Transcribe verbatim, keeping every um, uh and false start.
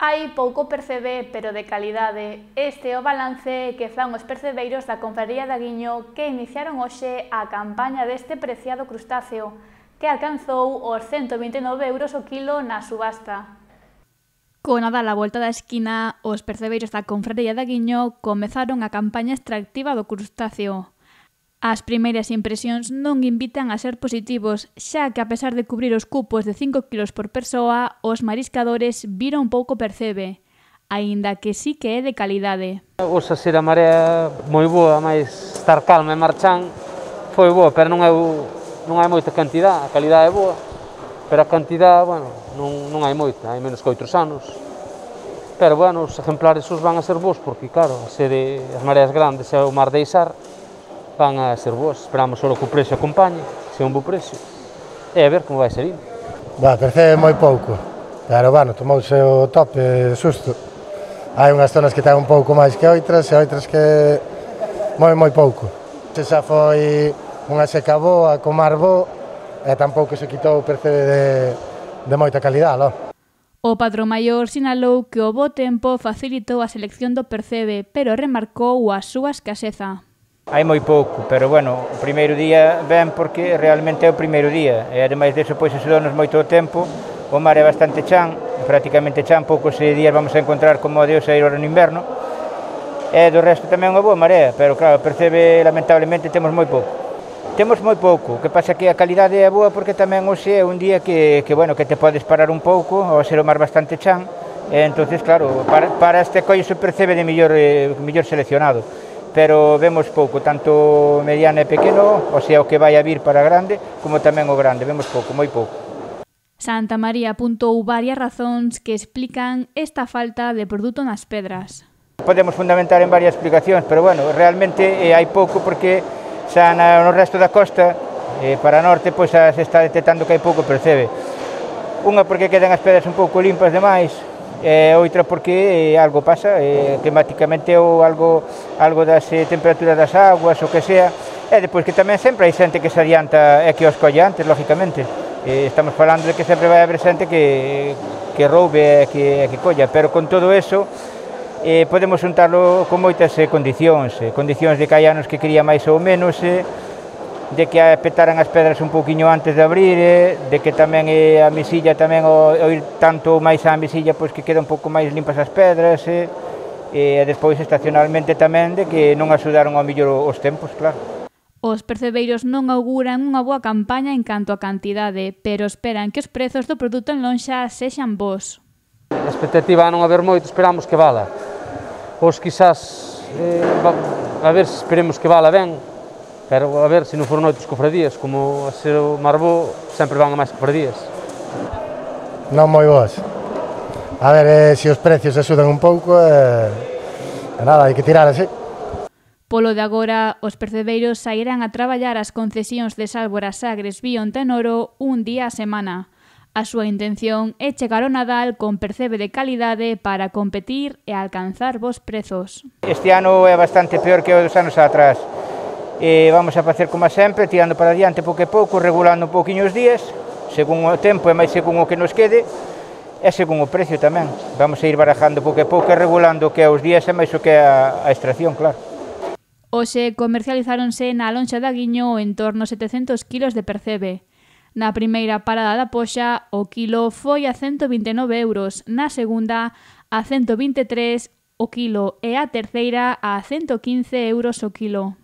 Hai pouco percebe, pero de calidade. Este é o balance que fan os percebeiros da Confraría de Aguiño que iniciaron hoxe a campaña deste preciado crustáceo, que alcanzou os cento vinte e nove euros o quilo na subasta. Co Nadal á volta da esquina, os percebeiros da Confraría de Aguiño comezaron a campaña extractiva do crustáceo. As primeiras impresións non invitan a ser positivos, xa que a pesar de cubrir os cupos de cinco kilos por persoa, os mariscadores viron pouco percebe, aínda que sí que é de calidade. Osa ser a marea moi boa, máis estar calma e marchán foi boa, pero non é, non hai moita cantidad, a calidade é boa, pero a cantidad, bueno, non, non hai moita, hai menos que outros anos. Pero, bueno, os exemplares os van a ser bons, porque, claro, a ser as mareas grandes e o mar de Isar, van a ser boas, esperamos só que o precio acompañe, se é un bo precio, e a ver como vai ser indo. Bah, percebe moi pouco, pero, bueno, tomouse o tope susto. Hai unhas zonas que ten un pouco máis que outras, e outras que moi moi pouco. Se xa foi unha seca boa, co mar bo, e tampouco se quitou o percebe de, de moita calidad, lo. O patrón maior sinalou que o bo tempo facilitou a selección do percebe, pero remarcou a súa escaseza. Hai moi pouco, pero, bueno, o primeiro día ben porque realmente é o primeiro día, e ademais deso, pois, axudonos moito o tempo, o mar é bastante chan, prácticamente chan, poucos días vamos a encontrar como o de hoxe no inverno, e do resto tamén unha boa marea, pero, claro, percebe, lamentablemente, temos moi pouco. Temos moi pouco, o que pasa que a calidade é boa porque tamén hoxe é un día que, que, bueno, que te podes parar un pouco, ao ser o mar bastante chan, e entonces, claro, para, para este collo se percebe de millor, eh, millor seleccionado. Pero vemos pouco, tanto mediano e pequeno, o sea, o que vai a vir para grande, como tamén o grande, vemos pouco, moi pouco. Santa María apuntou varias razóns que explican esta falta de produto nas pedras. Podemos fundamentar en varias explicacións, pero, bueno, realmente eh, hai pouco porque xa na, no resto da costa, eh, para norte, pois xa se está detectando que hai pouco percebe. Unha porque quedan as pedras un pouco limpas demais, e outra porque eh, algo pasa, eh, climáticamente ou algo, algo das eh, temperaturas das aguas, o que sea, e depois que tamén sempre hai xente que se adianta e que os colle antes, lógicamente. Eh, estamos falando de que sempre vai haber xente que, que roube e que, que colla, pero con todo eso eh, podemos juntarlo con moitas eh, condicións, eh, condicións de que hai anos que quería máis ou menos, eh, de que petaran as pedras un pouquiño antes de abrir, eh, de que tamén eh, a mesilla tamén o, o ir tanto máis á mesilla, pois que queda un pouco máis limpas as pedras, eh, e despois estacionalmente tamén de que non axudaron ao mellor os tempos, claro. Os percebeiros non auguran unha boa campaña en canto a cantidade, pero esperan que os prezos do produto en lonxa sexan bons. A expectativa a non haber moito, esperamos que vala. Os quizás, eh, a ver, esperemos que vala ben, pero a ver, se non foron outros cofradías, como a ser o Marbó, sempre van a máis cofradías. Non moi boas. A ver, eh, se os precios axudan un pouco, eh, e nada, hai que tirar así. Polo de agora, os percebeiros sairán a traballar as concesións de Sálvora, Sagres, Bion, Tenoro un día a semana. A súa intención é chegar ao Nadal con percebe de calidade para competir e alcanzar bons prezos. Este ano é bastante peor que os dos anos atrás. E vamos a facer como sempre, tirando para adiante pouco a pouco, regulando un pouquiño os días, según o tempo e máis según o que nos quede, e según o precio tamén. Vamos a ir barajando pouco a pouco e regulando o que é os días e máis o que é a, a extracción, claro. Hoxe comercializáronse na lonxa de Aguiño en torno a setecentos kilos de percebe. Na primeira parada da Poxa, o quilo foi a cento vinte e nove euros, na segunda a cento vinte e tres o quilo e a terceira a cento quince euros o quilo.